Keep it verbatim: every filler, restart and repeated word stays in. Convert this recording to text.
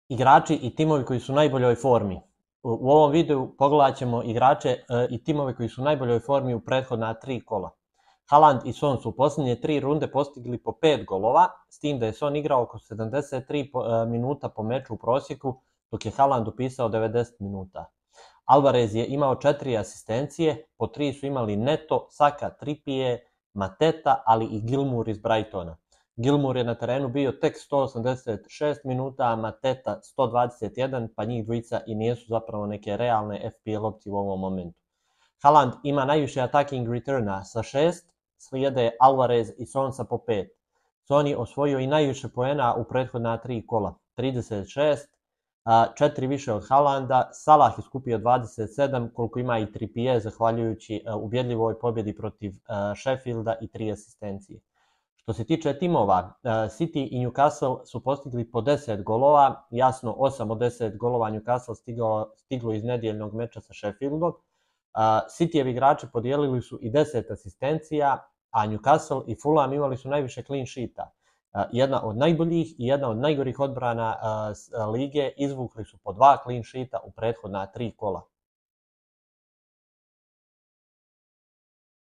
Igrači i timovi koji su u najboljoj formi. U ovom videu pogledat ćemo igrače i timove koji su u najboljoj formi u prethodna tri kola. Haaland i Son su u posljednje tri runde postigli po pet golova, s tim da je Son igrao oko sedamdeset tri minuta po meču u prosjeku, dok je Haaland upisao devedeset minuta. Alvarez je imao četiri asistencije, po tri su imali Neto, Saka, Trippier, Mateta, ali i Gilmour iz Brightona. Gilmour je na terenu bio tek sto osamdeset šest minuta, a Mateta sto dvadeset jedan, pa njih dvojica i nisu zapravo neke realne F P L opcije u ovom momentu. Haaland ima najviše attacking returna sa šest, slijede Alvarez i Son sa po pet. Son je osvojio i najviše poena u prethodna tri kola, trideset šest, četiri više od Haalanda, Salah je skupio dvadeset sedam, koliko ima i Trippier, zahvaljujući ubjedljivoj pobjedi protiv Sheffielda i tri asistencije. Što se tiče timova, City i Newcastle su postigli po deset golova, jasno osam od deset golova Newcastle stiglo, stiglo iz nedjeljnog meča sa Sheffieldom. Cityjevi igrači podijelili su i deset asistencija, a Newcastle i Fulham imali su najviše clean sheeta. Jedna od najboljih i jedna od najgorih odbrana lige, izvukli su po dva clean sheeta u prethodna tri kola.